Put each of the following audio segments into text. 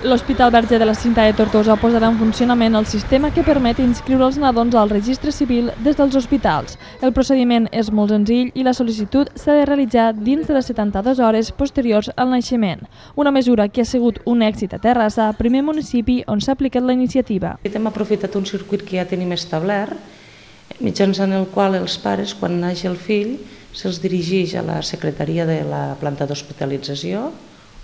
L'Hospital Verge de la Cinta de Tortosa posarà en funcionament el sistema que permet inscriure els nadons al registre civil des dels hospitals. El procediment és molt senzill i la sol·licitud s'ha de realitzar dins de les 72 hores posteriors al naixement. Una mesura que ha sigut un èxit a Terrassa, primer municipi on s'ha aplicat la iniciativa. Hem aprofitat un circuit que ja tenim establert, mitjançant el qual els pares, quan naix el fill, se'ls dirigeix a la secretaria de la planta d'hospitalització,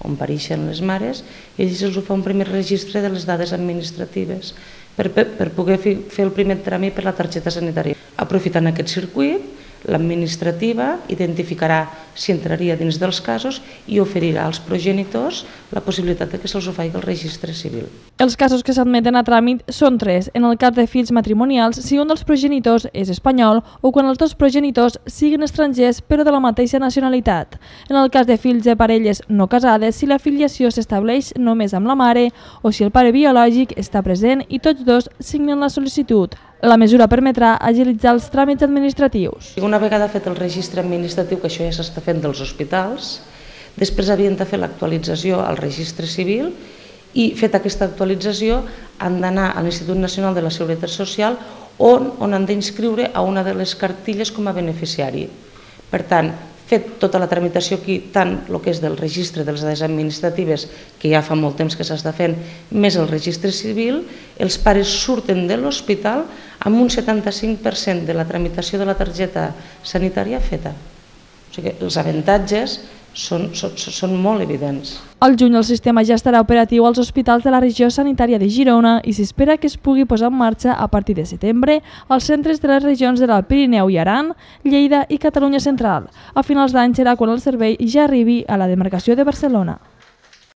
on pareixen les mares, i ells els fa un primer registre de les dades administratives per poder fer el primer tràmit per la targeta sanitària. Aprofitant aquest circuit, l'administrativa identificarà si entraria dins dels casos i oferirà als progenitors la possibilitat que se'ls faci el registre civil. Els casos que s'admeten a tràmit són 3, en el cas de fills matrimonials si un dels progenitors és espanyol o quan els dos progenitors siguin estrangers però de la mateixa nacionalitat. En el cas de fills de parelles no casades, si la filiació s'estableix només amb la mare o si el pare biològic està present i tots dos signen la sol·licitud. La mesura permetrà agilitzar els tràmits administratius. Una vegada fet el registre administratiu, que això ja s'està fent dels hospitals, després havien de fer l'actualització al registre civil i, feta aquesta actualització, han d'anar a l'Institut Nacional de la Seguretat Social on han d'inscriure a una de les cartilles com a beneficiari. Per tant, fet tota la tramitació aquí, tant el que és del registre de les dades administratives, que ja fa molt temps que s'està fent, més el registre civil, els pares surten de l'hospital amb un 75% de la tramitació de la targeta sanitària feta. O sigui que els avantatges són molt evidents. Al juny el sistema ja estarà operatiu als hospitals de la regió sanitària de Girona i s'espera que es pugui posar en marxa a partir de setembre als centres de les regions de l'Alt Pirineu i Aran, Lleida i Catalunya Central. A finals d'any serà quan el servei ja arribi a la demarcació de Barcelona.